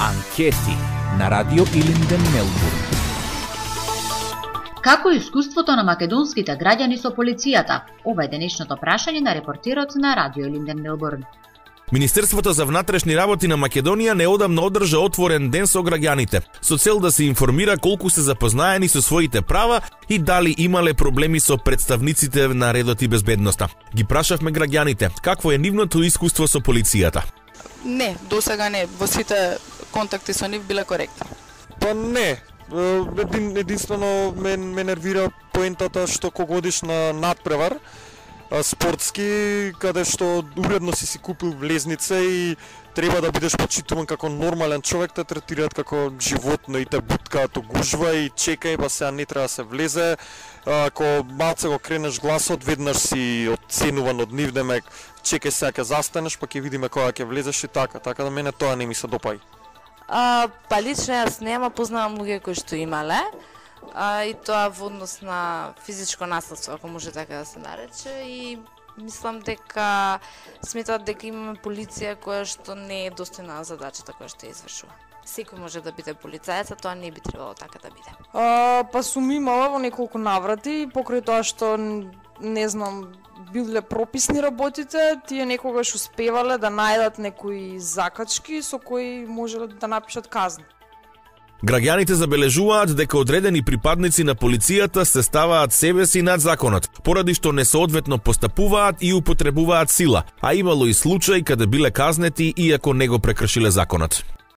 Анкети на Радио Илинден, Мелбурн. Како е искуството на македонските граѓани со полицијата? Ова е денешното прашање на репортерот на Радио Илинден, Мелбурн. Министерството за внатрешни работи на Македонија неодамна одржа отворен ден со граѓаните, со цел да се информира колку се запознаени со своите права и дали имале проблеми со представниците на редот и безбедноста. Ги прашавме граѓаните какво е нивното искуство со полицијата. Не, досега не. Во сите контакти со нив биле коректни. Па не. Единствено ме нервира поентата што кога одиш на надпревар спортски, каде што уредно си купил влезница и треба да бидеш почитуван како нормален човек, те третираат како животно и те буткаат гужва и чекај, па сега не треба да се влезе. Ако малце го кренеш гласот, веднаш си оценуван од нив, демек чекај сега ќе застанеш, па ќе видиме кога ќе влезеш и така да мене тоа не ми се допаѓа. Па лично јас нема познавам луѓе кои што имале, и тоа во однос на физичко насилство, ако може така да се нарече, и мислам дека сметат дека имаме полиција која што не е достојна задачата која што ја извршува. Секој може да биде полицаец, а тоа не би требало така да биде. Па сум имала во неколку наврати, покрај тоа што не знам, биле прописни работите, тие некогаш успевале да најдат некои закачки со кои можеле да напишат казни. Граѓаните забележуваат дека одредени припадници на полицијата се ставаат себе си над законот, поради што несоодветно постапуваат и употребуваат сила, а имало и случаи каде биле казнети иако не го прекршиле законот.